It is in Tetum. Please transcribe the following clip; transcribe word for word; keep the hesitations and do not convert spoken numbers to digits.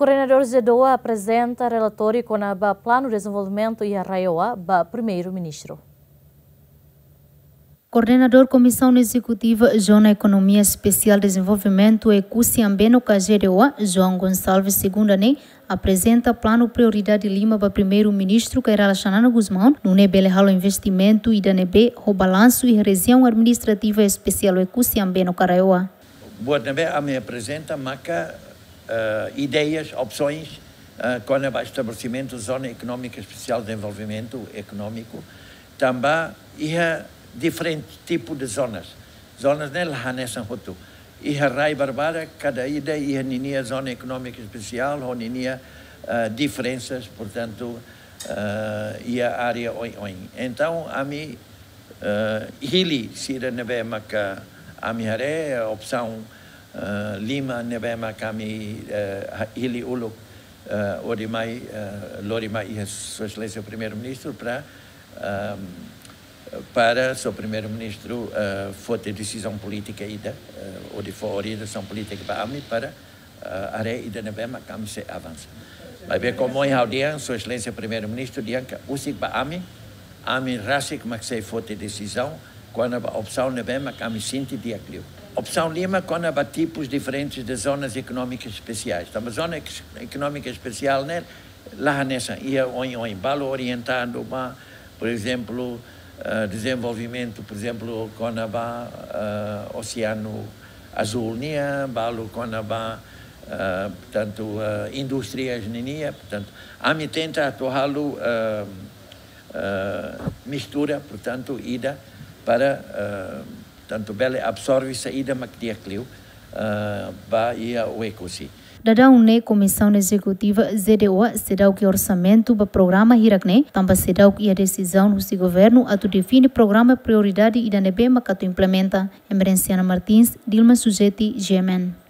Koordenadór ZEEDOA aprezenta relatóriu kona-ba planu dezenvolvimentu iha RAEOA ba Primeiru-Ministru. Koordenadór Komisaun Ezekutiva Zona Ekonomia Espesiál Dezenvolvimentu Oekusi Ambeno ka ZEEDOA, João Gonçalves Segunda ne'e, aprezenta planu prioridade lima ba Primeiru-Ministru Kay Rala Xanana Gusmão, nune'e bele halo investimentu ida ne'ebé ho balansu iha Rejiaun Administrativa Espesiál Oekusi Ambeno ka RAEOA. Buat ne'ebé ami aprezenta maka, eh, ideias, opsoens, eh, kona-ba estabelesimentu Zona Ekonómika Espesiál Dezenvolvimentu Ekonómiku, tanba iha diferente tipu de zonas. Zonas ne'e la hanesan hotu. Iha rai barbada, kada ida iha ninia Zona Ekonómika Espesiál, ho ninia, eh, diferensas, portantu, eh, iha área oioin. Entaun, ami, eh, hili sira ne'ebé maka ami haree, opsaun, eh, lima ne'ebé maka ami, eh, ha-, hili uluk, eh, hodi mai, eh, lori mai iha Sua Exelénsia Primeiru-Ministru para, ehm, para Sua Primeiru-Ministru, eh, foti desizaun polítika ida, eh, hodi fó orientasaun polítika ba ami para, eh, haree ida ne'ebé maka ami sei avansa. Maibé komu ha'u dehan, Sua Exelénsia Primeiru-Ministru dehan katak husik ba ami, ami rasik mak sei foti desizaun kona-ba opsaun ne'ebé maka ami sente di'ak liu. Opsaun lima kona-ba tipus diferentes de zonas económicas especiais. Tanba zona ek-, ekonómika espesiál ne'e la hanesan, iha oioin, balu orientadu ba, por ezemplu, eh, dezenvolvimentu, por ezemplu, kona-ba, eh, Oseanu Azúl nian, balu kona-ba, eh, portantu, eh, indústrias ninian, portantu, ami tenta atu halo, eh, eh, mistura, portantu, ida para, eh, portantu, bele absorve saida mak di'ak liu, eh, ba iha Oekusi. Daudaun ne'e Komisaun Ezekutiva ZEEDOA seidauk iha orsamentu ba programa hirak ne'e, tanba seidauk iha desizaun husi governu atu define programa prioridade ida ne'ebé mak atu implementa. Emerenciana Martins, Dilma Sujeti, G M N.